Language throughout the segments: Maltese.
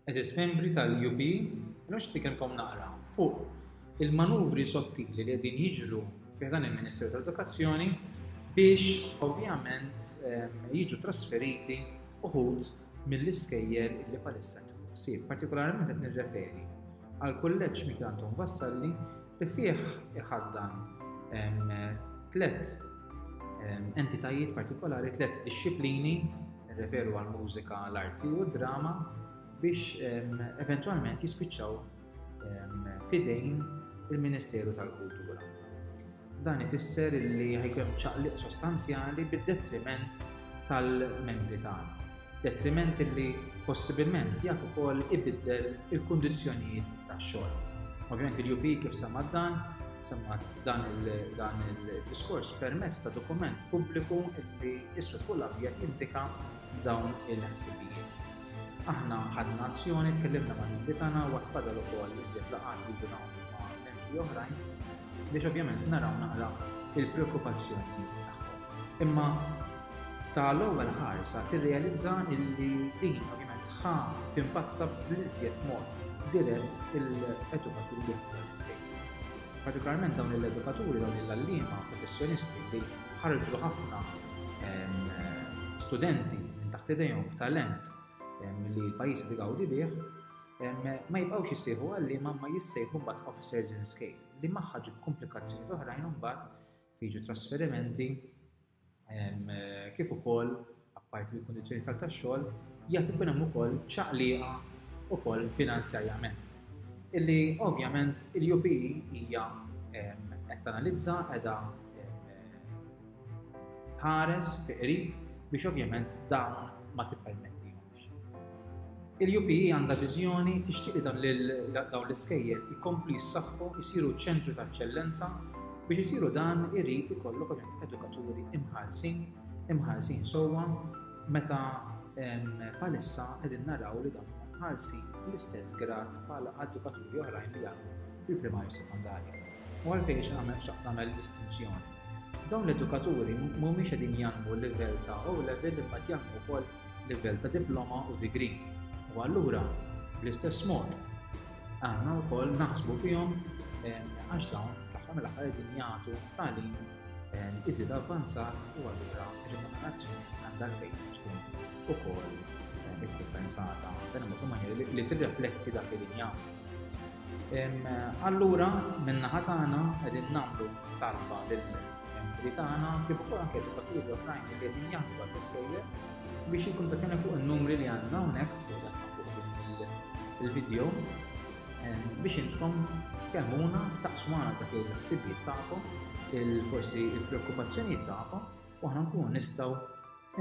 Għeżież membri tal-UP, illum xi nitkellmkom naqra fuq il-manuvri sottili li qegħdin jiġru fi dan il-Ministeru tal-Edukazzjoni biex ovvjament jiġu trasferiti uħud mill-iskejjel li palissa ħsieb. Partikolarment qed nirreferi għal kulleġġ Mikiel Anton Vassalli li fih iħaddan tlet entitajiet partikolari, tlet dixxiplini, nirreferu għal mużika, l-arti u d-drama, biex eventwalment jispiċċaw fidejn il-Ministeru tal-Kultura. Dan ifisser li ħajkun hemm ċaqliq sostanzjali bid-detriment tal-membri tagħna. Detriment li possibilment jaf ukoll ibiddel il-kundizzjonijiet tax-xogħol. Ovvjament il-UP kif semmat dan, semmat dan il-diskors permezz ta' dokument pubbliku li iswed fuq l-abjad jindika dawn il-ħsibijiet. Aħna ħadna azzjoni, tkellimna ma' membri tagħna u għad fadal ukoll iżjed laqgħat li nagħmlu ma' membri oħrajn biex ovvjament naraw naqra il-preokkupazzjonijiet tagħhom. Imma ta' l-ewwel ħarsa tirrealizza illi din ovvjament ħa timpatta bl-iżjed mod dirett il-edukaturi li jaħdmu l-iskejjel. Partikolarment dawn l-edukaturi, dawn l-għalliema professjonisti li ħarġu ħafna studenti minn taħt idejhom b'talent li l-pajjiż qed igawdi bih, ma jibqgħux jissejħu għalliema ma jissejħu mbagħad officers in scale li magħha ġib komplikazzjoni oħrajn mbagħad jiġu trasferimenti kif ukoll apparti mill-kundizzjoni tal tax-xogħol jaf ikun hemm ukoll ċaqliqa ukoll finanzjarjament. Illi ovvjament il-UPE hija qed tanalizza qiegħda tħares fi qrib biex ovvjament dawn ma tippermettihomx. Il-UPE għandha viżjoni tixtieq li dawn l-iskejjel ikomplu jissaħħu, jsiru ċentru ta' eċċellenza biex isiru dan irid ikollok ovvjament edukaturi imħallsin, imħallsin sewwa meta bħalissa qegħdin naraw li dawn huma mħallsin fl-istess grad bħala edukaturi oħrajn li jgħallmu fil-primarju sekondarja. U għalfejn xtaqt nagħmel distinzjoni. Dawn l-edukaturi mhumiex qegħdin jgħallmu livell ta' O level imma qed jgħallmu wkoll livell ta' diploma u degree. U allura bl-istess mod għandna wkoll naħsbu fihom għax dawn fl-aħħar mill-aħħar qegħdin jagħtu tagħlim iżid avvanzat u allura r-remunerazzjoni għandha għalfejn tkun ukoll ikkumpensata b'dan mod maniera li tirrefletti dak li din jagħmlu. Allura min-naħa tagħna qegħdin nagħmlu talba lill-membri tagħna kif ukoll anke edukaturi oħrajn li qegħdin jaħdmu għall-iskejjel biex jikkuntattjana fuq in-numri li għandna hawnhekk fuq dan fuq il-video biex intkom tkellmuna taqsmuna dak il-ħsibijiet tagħkom, il-forsi il-preokkupazzjonijiet tagħkom u aħna nkunu nistgħu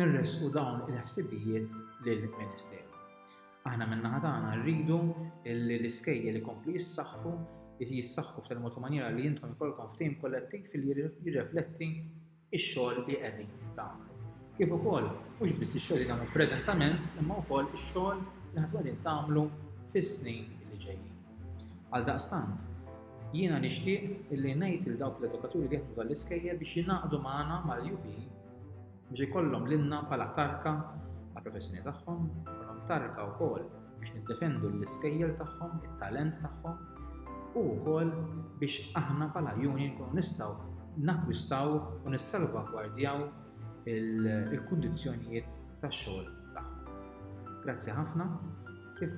nressqu dawn il-ħsibijiet lill-Ministeru. Aħna min-naħa tagħna rridu li l-iskejjel ikomplu jissaħħu, jissaħħu b'tali mod u maniera li intom ikollkom ftehim kollettiv li jirrefletti x-xogħol li qegħdin tagħmlu. Kif ukoll mhux biss ix-xogħol li tagħmlu preżentament, imma wkoll ix-xogħol li ħadd qegħdin tagħmlu fis-snin li ġejjin. Għaldaqstant, jiena nixtieq illi ngħid lil dawk l-edukaturi li jaħdmu tal-iskejjel biex jingħaqdu magħna mal-UP biex ikollhom lilna bħala tarka għall-professjoni tagħhom, ikollhom tarka wkoll biex niddefendu l-iskejjel tagħhom, it-talent tagħhom u wkoll biex aħna bħala union nkunu nistgħu nakkwistaw u nissalvagwardjaw il-kundizzjonijiet tax-xogħol tagħhom. Grazzi ħafna. Kif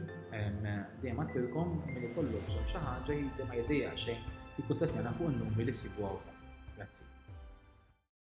dejjem għedtilkom min ikollu bżonn xi ħaġa ma jdejjaq xejn jikkuntattjana fuq in-numri li ssibu hawn taħt. Grazzi.